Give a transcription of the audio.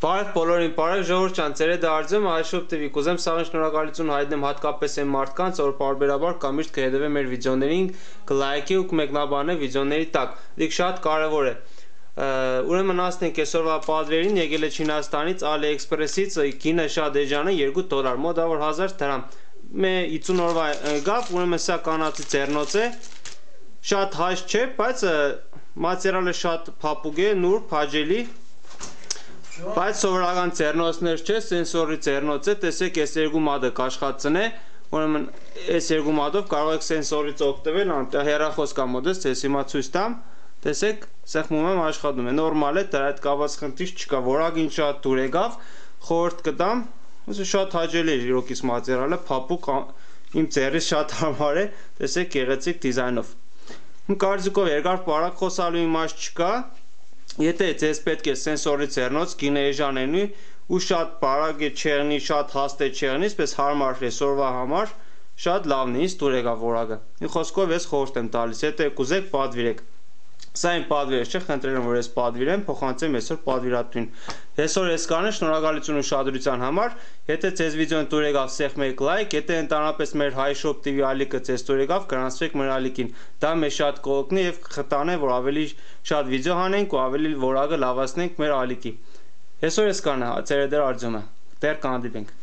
Բարև բոլորին, բարև ժողովուրդ ջան, ծերեդ արձում iShop TV, կուզեմ սաղին շնորհակալություն հայտնեմ հատկապես այն մարդկանց, որ պարբերաբար կամիշտ կհետևե մեր վիդեոներին, կլայքի ու կմեկնաբանե վիդեոների տակ, դիք շատ կարևոր է։ Ուրեմն ասենք այսօրվա պատվերին եկել է Չինաստանից, AliExpress-ից, գինը շատ էժան է, $2, մոտավոր 1000 դրամ։ Մե 50 օրվա գավ, ուրեմն սա կանացի ձեռնոց է, շատ հայց չէ, բայց մատերիալը շատ փափուկ է, նուրբ, հաճելի։ Բայց սովորական ձեռնոցներ չէ, սենսորի ձեռնոց է, տեսեք այս երկու մատը կաշխատցն է, ուրեմն այս երկու մատով կարող եք սենսորից օգտվել, հեռախոս կա մոտս, ես հիմա ցույց տամ, տեսեք, սեղմում եմ աշխատում է, նորմալ է, դրա հետ կապված խնդիր չկա, որակին շատ դուր եկավ, խորհուրդ կտամ, շատ հաճելի է իրոքից մատերիալը, փափուկ, իմ ձեռից շատ հարմար է, տեսեք գեղեցիկ դիզայնով։ Կարծիքով երկար պարակ խոսալու իմաստ չկա։ Եթե ձեզ պետք է սենսորի ձեռնոց, գինը էժան է նույն ու շատ բարակ է չեղնի, շատ հաստ է չեղնի, այսպես հարմար է սորվա համար, շատ լավն է, ինձ դուր եկավ որակը։ Մի խոսքով ես խորհուրդ եմ տալիս, եթե կուզեք պատվիրեք։ Սա իմ պատվիրը չէ, խնդրել եմ որ ես պատվիրեմ, փոխանցեմ այսօր պատվիրատուն։ Այսօր ես կանեմ, շնորհակալություն ուշադրության համար։ Եթե ձեզ վիդեոն դուր եկավ, սեղմեք լայք, եթե ընդհանրապես մեր iShop TV ալիքը ձեզ դուր եկավ, գրանցվեք մեր ալիքին։ Դա մեզ շատ կօգնի եւ կխտանե, որ ավելի շատ վիդեո հանենք ու ավելի որակը լավացնենք մեր ալիքի։ Այսօր ես կանեմ, ծերեդեր արձումը։ Դեռ կհանդիպենք։